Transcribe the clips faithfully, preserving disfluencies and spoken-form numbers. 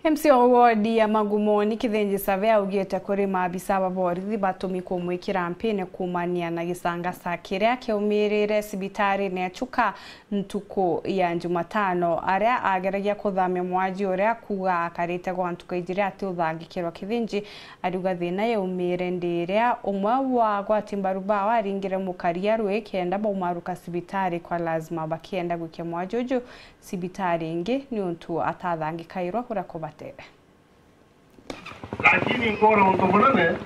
M C A wa wodi ya Magumoni Kithinji Savea augite kuri maabisa ba borithi batumi kumwikira mpini kuumania na gicangaca kiria kiaumirire cibitarine ya Chuka ntuku ya Jumatano, aria ageragia kuthamia mwaji uria kuuga akarite gwa ntuku ijiri ati uthangikirwa. Kithinji ariuga thina yaumire ndi iria umwe wa agwati mbaru bao aringire mukaria rui kenda baumaruka cibitari kwa lazima bakienda gwikia mwaji uju cibitari ingi niuntu atathangikairwa uria kubatere. Lakini nkona untu munene.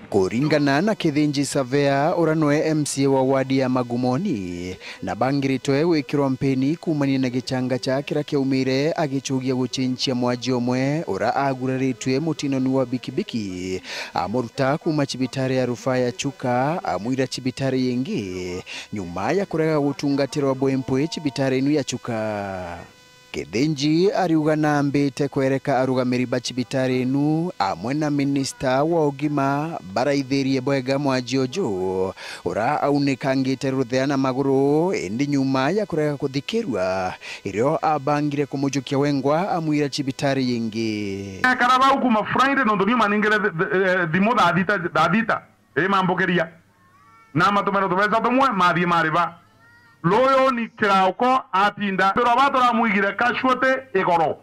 Kuringana na Kithinji Savea, uria nwe M C A wa wadi ya Magumoni, na bangiritwe gwikirwa mpeni kuumania na gichangacha kiria kiaumire agichugia guchinchia mwaji umwe uria aguraritue mutinoni wa bikibiki, amuruta kuuma cibitari ya rufaa ya Chuka amwira cibitari ingi, nyuma ya kurega gutungatirwa bwempwi cibitari inu ya Chuka. Kithinji ariuga nambite kwereka arugamiri ba cibitari inu amwe na minista wa ugima baraithirie bwega mwaji uju, uria aunikangite ruthea na maguru, indi nyuma ya kurega kuthikirua, irio abangire kumujukia wengwa amwira cibitari ingi. Ekara bau kuma Friday, nontu niu maningire th-, th-, eh, thimu thaa thita, thaa thita, imambukiria. Na amatumira tubeca tumwe, mathii mariba. Ruyuni kirauko atinda. Mbirwa ba turamwigire casualty igoro.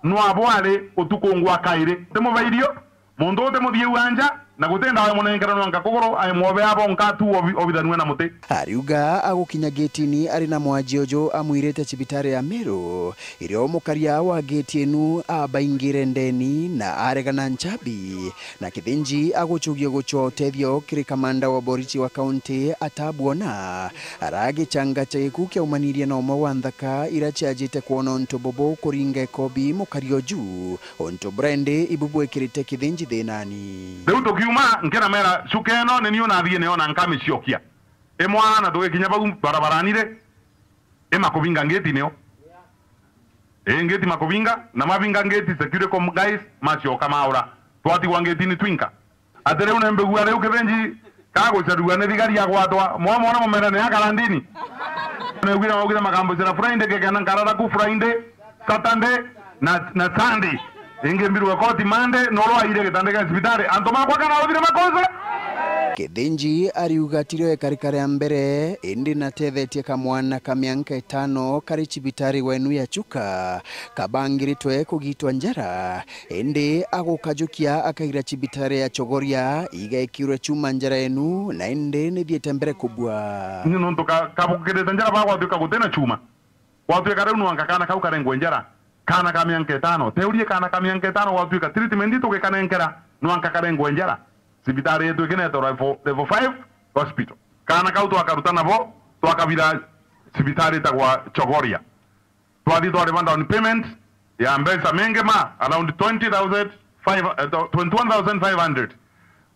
Nwabo ari utuku ngwa kairi. Timubairio, muntu utimuthiu anja, na guti ndawa imunenkera nwanka kuguru, aimwobe abo nka tu obi-, obithanue na muti. Ariuga agukinya getini ari na mwaji uju amwirite cibitari ya Meru, irio mukaria wa geti inu abaingire ndeni na aregana nchabi. Na Kithinji agucugia gucwa utethio kiri kamanda wa borisi wa kaunti atabwona, aragichangacha gikuu kiaumanirie na umwe wa nthaka ira ciajite kwona untu bubu kuringa ikobi mukari uju, untu buria indi ibu bwikirite Kithinji thinani. Riu tukiuma, nkena mera, Chuka ino ni niu nathii nio na nkamiciokia. Imwana tugikinya bau barabarani ri, imakubinga ngeti nio. Ii, ngeti makubinga, na mabinga ngeti, security com guys macioka maura. Twatigwa ngetini twinka. Ati riu nembigua riu Kithinji kagucarua ni thigari agwatwa, mwamwona mumera ni akarandini. Negwire maugire makambucira Friday, ngekena nkarara ku Friday, Saturday, na, na Sunday. Ingi mbirwe koti Monday, noro aire gitanda gia cibitari. Antu makwa kana uthire makosa? Kithinji ariuga tirio ikarika ria mbere, indi natethetie kamwana ka mianka itano kari cibitari wenu ya Chuka, kabangiritwe kugitwa njara, indi agukajukia akaira cibitari ya Chogoria igekirwe chuma njara yenu, na indi nithiite mbere kubua. Ni nontu ka-, kabukirite njara bagwatuika gutina chuma. Gwatuika riu nwanka kana kau karengwe njara, kana ka mianka itano. Teurie kana ka mianka itano gwatuika treatment tugikanenkera, nwanka karengwe njara. Cibitari yetu ikinetwa level, level five hospital. Kana kau twakaruta nabo, twakabira cibitari itagwa Chogoria. Twathi twariba down payment ya mbeca mingi ma, around twenty thousand five, eh, twenty-one thousand five hundred.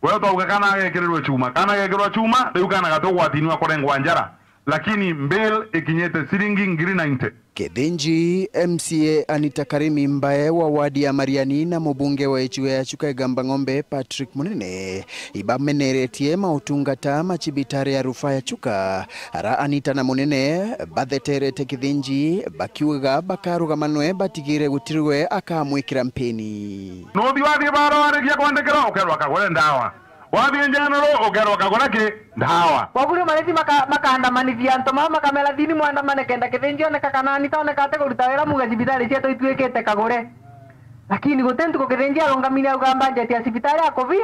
Wee twauga kana agekirirwe chuma. Kana agekirwa chuma, riu kana gati ugwatini wa kurengwa njara. Lakini bill ikinyite ciringi ngiri ninety. Kithinji, M C A Anita Karimi Mbae wa wadi ya Mariani na mubunge wa icigo ya Chuka Igamba Ng'ombe Patrick Munene ibameneretie mautungata ma cibitari ya rufaa ya Chuka, ara Anita na Munene batheterete Kithinji bakiuga bakarugamanwe batigire gutirwe akamwikira mpini. Nuthi wathie bara warikia kwandikirwa, ukerwa kagure ndawa. Wathie General, ukerwa kagure ki? Ndawa. Koguo riu mariti maka-, makaandamanithia antu mao, makamera, "Thini mwandamane kenda Kithinji oneka kana Anita oneka ati kuruta wira, muge cibitari cietu ituikite kagure." Lakini guti ntuku Kithinji arungamire auga budget ya cibitari akuvi,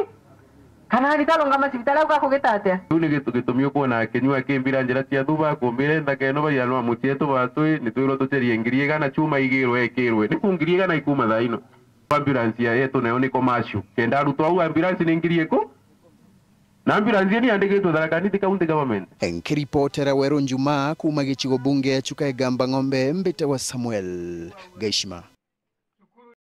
kana Anita arungama cibitari auga akugita atia? Riu ni gitu gitumi ukwona akinyua akimbira njira cia thuba, akumbire nthaka ino baianwa mucietu batwi, nitwirwo tucerie ngiri igana chuma igirwe ekirwe. Niku ngiri igana ikuma thaa ino? Ambulance ya yetu nayo ni commercial. Kenda arutwo au ambulance ni ngiri iku? Na ambulance iyo ni yandikitwe Tharaka Nithi County Government. Nkiripotera Weru Njuma kuuma gicigo bunge ya Chuka Igamba Ng'ombe, mbite wa Samuel Gaishima.